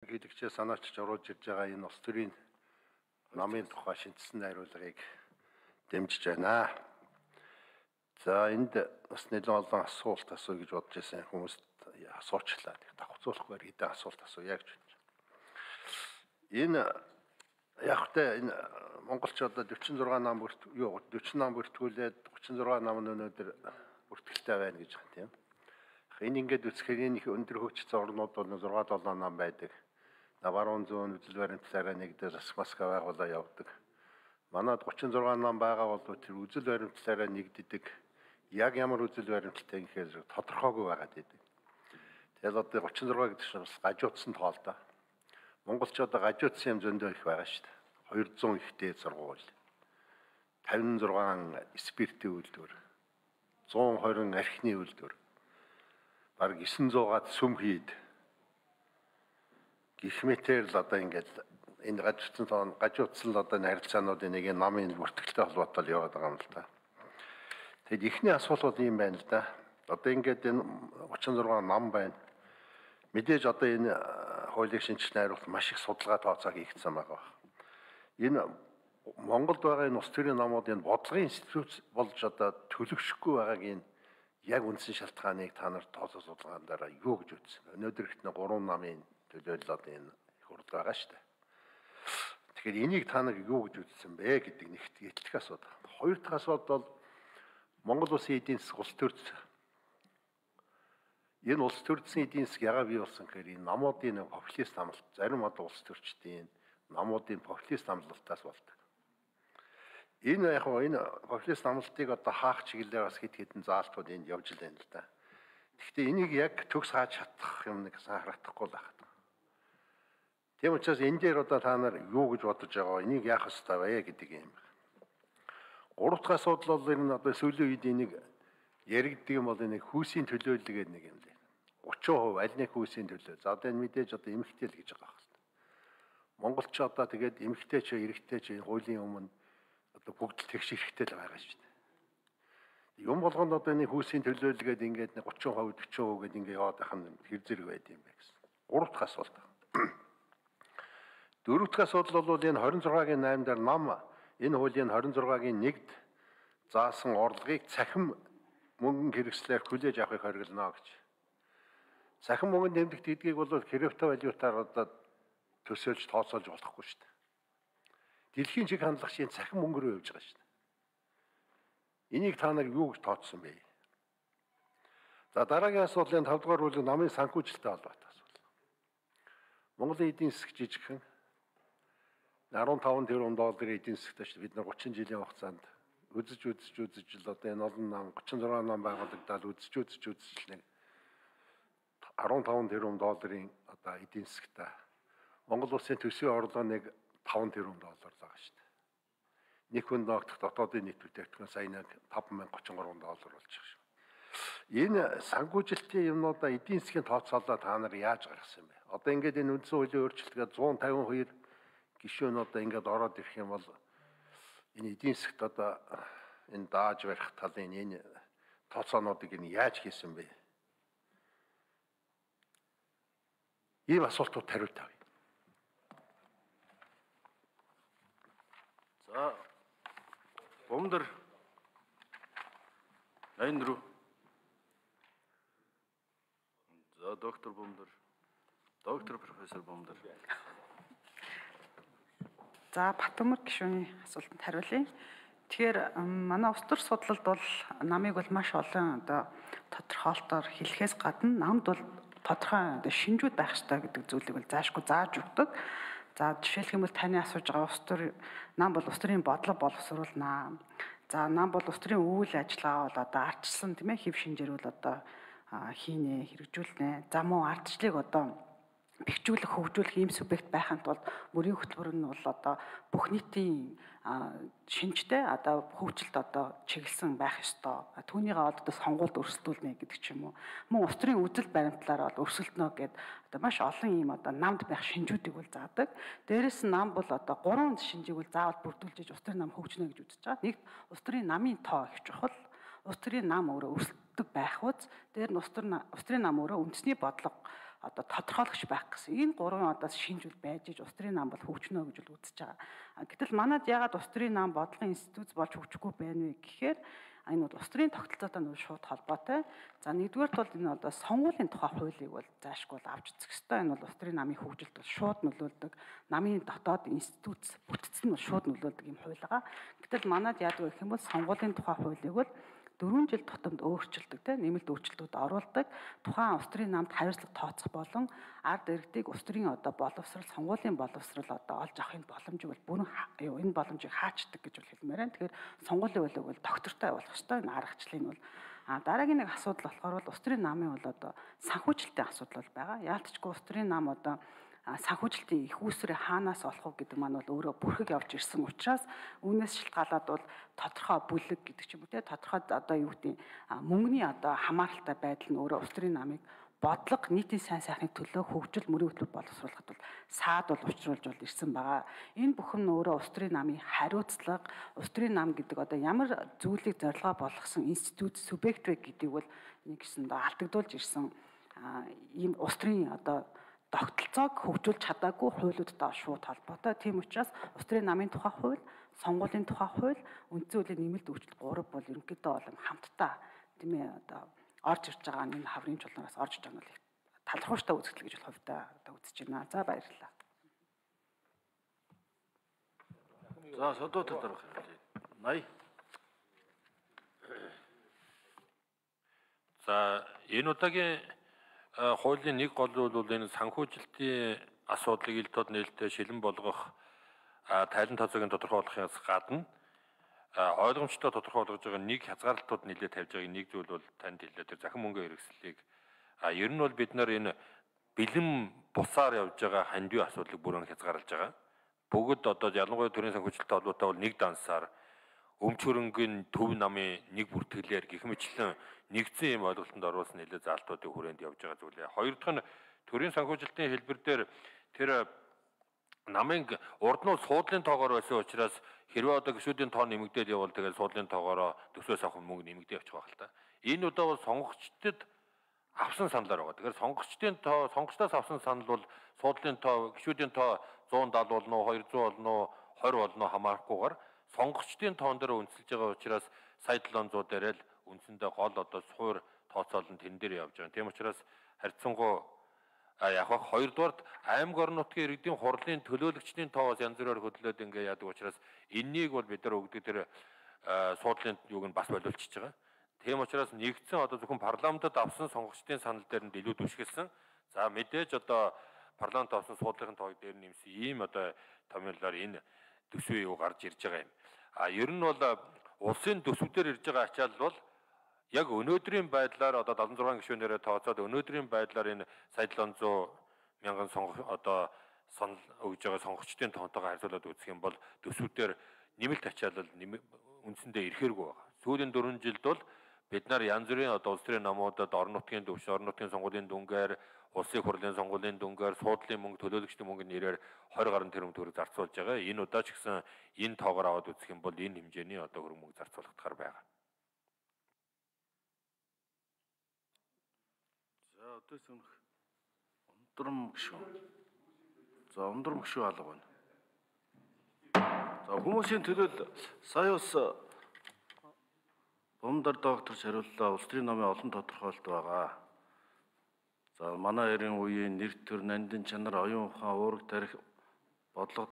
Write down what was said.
Хэлэгчээ санаачж оруулж ирж байгаа энэ улс төрийн намын тухай шинжилсэн найруулгыг дэмжиж байна. За энд бас нэлээд олон асуулт асууя гэж бодож байсан хүмүүст асуучлаа. Давхцуулахгүйгээр хэдэн асуулт асууя гэж байна. Энэ явахтай энэ монголчууд 46 нам 40 нам бүртгүүлээд 36 нам нь өнөөдөр бүртгэлтэй байна гэж байна тийм. Энэ ингээд үсгээр энэ их өндөр хөгжсөн орнууд бол 6-7 нам байдаг. Баруун зүүн үзэл баримтлаараа нэгдээ засмаска байгуулаа явдаг. Манайд 36 нам байгаа бол тэр үзэл баримтлаараа нэгддэг. Яг ямар үзэл баримталтай гэхээр тодорхойгүй байгаад байдаг. Тэгэл одоо 36 гэдэг чинь бас гажуудсан тоол да. Монголчууд гажуудсан юм зөндөө их байгаа шүү дээ. 200 ихтэй сургууль. 56 спиртийн үйлдвэр. 120 архины үйлдвэр. Бараг 900-аад сүм хийд. Гэх мэтээр л одоо ингээд энэ гажуудсан л одоо харилцаануудын нэг намын бүртгэлтэй холбоотой яваад байгаа юм л да. Тэгэд ихний асуулт бол юм байна л да. Одоо ингээд энэ 36 нам байна. Мэдээж одоо энэ хуулийн шинжилгээ хариулт маш их судалгаа тооцоо хийгдсэн байгаа. Энэ Монголд байгаа энэ улс төрийн намуудын бодлогын институт болж одоо төлөвшөхгүй байгааг энэ яг үндсэн шалтгааныг та нар тооцоо судалгаан дараа юу гэж үзсэн. Өнөөдөр ихний 3 намын төлөөлөл одоо энэ хурд байгаа шүү дээ. Тэгэхээр энийг та нар юу гэж үзсэн бэ гэдэг нэгт итгэх асуудал. Хоёр дахь асуудал бол Монгол улсын эдийн засаг улс төрч. Энэ улс төрчсөн эдийн засаг яагаад бий болсон гэхээр энэ намуудын популист амлалт, зарим одоо улс төрчдийн намуудын популист амлалтаас болдог. Энэ яг энэ популист амлалтыг одоо хаах чиглэлээр бас хэд хэдэн заалтууд энд явж байна л да. Гэхдээ энийг яг төгс хааж чадах юм нэг харагдахгүй л байна. Тийм учраас энэ дээр одоо та нар юу гэж бодож байгаа вэ? Энийг яах ёстой вэ гэдэг юм. Гурав дахь асуудал бол энэ одоо сүүлийн үед энийг яригддаг юм бол энэ хүүсийн төлөөлөл гэдэг нэг юм лээ. 30% аль нэг хүүсийн төлөөлөл. За одоо энэ мэдээж одоо эмэгтэй л гэж байгаа хэрэг. Монголч одоо тэгээд эмэгтэй ч эрэгтэй ч хуулийн өмнө одоо бүгд л тэгш эрэхтэй л байгаа шүү дээ. Юм болгонд одоо энэ хүүсийн төлөөлөл гэдэг ингээд 30% 40% гэдэг ингээд яваад байх нь хэр зэрэг байд юм бэ гэсэн. Гурав дахь асуулт. Дөрөв дахь асуудал бол энэ 26-гийн 8-даар нам энэ хуулийн 26-гийн 1-д заасан орлогыг цахим мөнгөн хэрэгслээр хүлээж авахыг хориглоно гэж. Цахим мөнгөнд нэмэгдэх гэдгийг бол криптовалютаар одоо төсөөлж тооцоолж болохгүй шүү дээ. Дэлхийн чиг хандлага шин цахим мөнгө рүү явж байгаа шүү дээ. Энийг та нар юу гэж тооцсон бэ? За дараагийн асуудлын 5 дугаар бүлэг намын санхүүжилттэй холбоотой асуудал. Монголын эдийн засаг жижигхэн 15 тэрбум долларын эдийн засагтай шүү дээ. Бид нар 30 жилийн хугацаанд үзэж л одоо энэ олон нам 36 нам байгуулагдаад үзэж л нэг 15 тэрбум долларын одоо эдийн засагтай. Монгол улсын төсвийн орлого нэг 5 тэрбум доллар байгаа шүү дээ. Нэг хүн ногдох дотоодын нийт бүтээгдэхүүн сая нэг 5033 доллар болж байгаа шүү. Энэ санхүүжилтийн юмнуудаа эдийн засгийн тооцоолоо та нар яаж гаргасан бэ? Одоо ингээд энэ үндсэн хуулийн өөрчлөлтөд 152 гишүүн одоо ингээд ороод ирэх юм бол энэ эдийн засгт одоо энэ дааж барих талын энэ тооцоонуудыг энэ яаж хийсэн бэ? Ийм асуултууд хариулт авъя. За Бомдор 84. За доктор Бомдор. Доктор профессор Бомдор. За Батөмөр гишүүний асуултанд хариулъя. Тэгэхээр манай улс төр судлалд бол намыг бол маш олон одоо тодорхойлолтоор хэлэхээс гадна намд бол тодорхой одоо шинжүүд байх ёстой гэдэг зүйлийг бол заашгүй зааж өгдөг. За жишээлх юм бол таны асууж байгаа улс төр нам бол улс төрийн бодлого боловсруулна. За нам бол улс төрийн үйл ажиллагаа бол одоо ардчилсан тийм ээ хэв шинжээр бол одоо хийнэ, хэрэгжүүлнэ. За мөн ардчлалыг одоо бэхжүүлэх, хөгжүүлэх ийм субъект байханд тулд мөрийн хөтөлбөр нь бол одоо бүх нийтийн шинжтэй одоо хөгжилд одоо чиглэсэн байх ёстой. Түүнийгээ одоо сонгуульд өрсөлдүүлнэ гэдэг ч юм уу. Мөн улс төрийн үзэл баримтлаар бол өрсөлдөнө гэд одоо маш олон ийм одоо намд байх шинжүүдийг бол заадаг. Дээрээс нь нам бол одоо 3 шинжийг бол заавал бүрдүүлж улс төрийн нам хөгжинэ гэж үзэж байгаа. Нэгт улс төрийн намын тоо их чухал. Улс төрийн нам өөрөө өрсөлддөг байх үз. Дээр нь улс төрийн нам өөрөө үндэсний бодлого одоо тодорхойлогч байх гэсэн. Энэ гурван одоо шинжүүл байж иж улс төрийн нам бол хөгжнө гэж бол үзэж байгаа. Гэтэл манайд ягаад улс төрийн нам бодлогын институт болж хөгжихгүй байна вэ гэхээр энэ бол улс төрийн тогтолцоотой нь шууд холбоотой. За нэгдүгээрт бол энэ одоо сонгуулийн тухай хуулийг бол заашгүй авч үзэх ёстой. Энэ бол улс төрийн намын хөгжилд бол шууд нөлөөлдөг. Намын дотоод институт бүтцэн нь бол шууд нөлөөлдөг юм хууль байгаа. Гэтэл манайд яадаг гэх юм бол сонгуулийн тухай хуулийг бол 4 жил тутамд өөрчилдөг, нэмэлт өөрчлөлтүүд оруулдаг. Тухайн улс төрийн намд хариуцлага тооцох болон ард иргэдийг улс төрийн одоо боловсрал, сонгуулийн боловсрал одоо олж авахын боломж бол бүрэн энэ боломжийг хаачдаг гэж бол хэлмээр байна. Тэгэхээр сонгуулийн хуулийг бол доктортой явуулах ёстой. Энэ аргачлалын бол дараагийн нэг асуудал болохоор бол улс төрийн намын бол одоо санхүүжилтийн асуудал бол байгаа. Яалтчгүй улс төрийн нам одоо санхүүжилтийн их үүсвэрээ хаанаас олох вэ гэдэг маань бол өөрөө бүрхэг явж ирсэн учраас үүнээс шалтгаалаад бол тодорхой бүлэг гэдэг ч юм уу тодорхой одоо юу гэдэг мөнгөний одоо хамааралтай байдал нь өөрөө улс төрийн намыг бодлого нийтийн сайн сайхны төлөө хөгжил мөрийн хөтөлбөр боловсруулахад бол саад бол учруулж бол ирсэн байгаа. Энэ бүхэн нь өөрөө улс төрийн намын хариуцлага, улс төрийн нам гэдэг одоо ямар зүйлийг зорилгоо болгосон институт субъект вэ гэдгийг бол нэг гэсэн алдагдуулж ирсэн ийм улс төрийн одоо тогтолцоог хөгжүүлж чадаагүй хуулиудтай шууд холбоотой. Тийм учраас улс төрийн намын тухай хууль, сонгуулийн тухай хууль, үндсэн хуулийн нэмэлт өөрчлөлт 3 бол ерөнхийдөө бол хамтдаа тийм ээ одоо орж ирж байгаа энэ хаврын чулуураас орж иж байгаа нь талархууштай үзэгдэл гэж бол хувьдаа одоо үзэж байна. За баярлалаа. За содоо талаарх хэлээ. 80. За энэ удаагийн хуулийн нэг гол бол энэ санхүүжилтийн асуудлыг ил тод нээлттэй шилэн болгох тайлан тооцоог тодорхойлохоос гадна ойлгомжтой тодорхой болгож байгаа нэг хязгаарлалтууд нэлээд тавьж байгаа нэг зүйл бол танд хэлээ. Тэр захин мөнгөний хэрэгслийг ер нь бол бид нар энэ бэлэн бусаар явж байгаа хандив асуудлыг бүрэн хязгаарлаж байгаа. Бүгд одоо ялангуяа төрийн санхүүжилттэй холбоотой бол нэг дансаар өмч хөрөнгөний төв намын нэг бүртгэлээр гэх мэтлэн нэгдсэн юм ойлголтод оруулсан нэлээд заалтуудын хүрээнд явж байгаа зүйлээ. Хоёр дахь нь төрийн санхүүжилтийн хэлбэр дээр тэр намын урд нь суудлын тоогоор байсан учраас хэрвээ одоо гишүүдийн тоо нэмэгдээд явбал тэгээд суудлын тоогоороо төсвөөс авах мөнгө нэмэгдээ явчих байх л та. Энэ удаа бол сонгогчдод авсан саналаар байгаа. Тэгэхээр сонгогчдын тоо сонгогчдоос авсан санал бол суудлын тоо гишүүдийн тоо 170 болно уу 200 болно уу 20 болно уу хамаарахгүйгээр сонгогчдын тоон дээр үндэслэж байгаа учраас сая 700 дээр л үндсэндээ гол одоо суур тооцоол нь тэн дээр явж байгаа. Тийм учраас харьцангуй яг хоёрдугаарт аймаг орон нутгийн иргэдийн хурлын төлөөлөгчдийн тоос янз бүрээр хөдлөөд ингээ яадаг учраас энэнийг бол бид нар өгдөг тэр суудлын юуг нь бас боловлчихж байгаа. Тийм учраас нэгдсэн одоо зөвхөн парламентод авсан сонгогчдын санал дээр нь илүү түшгэлсэн. За мэдээж одоо парламент авсан суудлын тоог дээр нэмсэн ийм одоо томьёолоор энэ төсвийн юу гарч ирж байгаа юм. Ер нь бол улсын төсвүүдээр ирж байгаа ачаал бол яг өнөөдрийн байдлаар одоо 76 гишүүнээрээ тооцоод өнөөдрийн байдлаар энэ сая 700 мянган одоо санал өгж байгаа сонгогчдын тоонтойгоо харьцуулаад үзэх юм бол төсвүүдээр нэмэлт ачаалал үндсэндээ ирэхээргүй байна. Сүүлийн 4 жилд бол бид нар янз бүрийн одоо улс төрийн намуудад орон нутгийн төвш, орон нутгийн сонгуулийн дүнгээр, улсын хурлын сонгуулийн дүнгээр, суудлын мөнгө, төлөөлөгчдийн мөнгөний нэрээр 20 гаруй тэрбум төгрөг зарцуулж байгаа. Энэ удаа ч гэсэн энэ тоогоор аваад үзэх юм бол энэ хэмжээний одоо хөрөнгө мөнгө зарцуулагдахаар байгаа. За өдөөс өмнөх ундрам гişүн. За ундрам гişүн алга байна. За хүмүүсийн төлөөл сая бас Бомдар докторч хариуллаа. Улс төрийн намын олон тодорхойлолт байгаа. За манай эрийн үеийн нэр төр, нандин чанар, оюун ухаан, уурэг тарих бодлого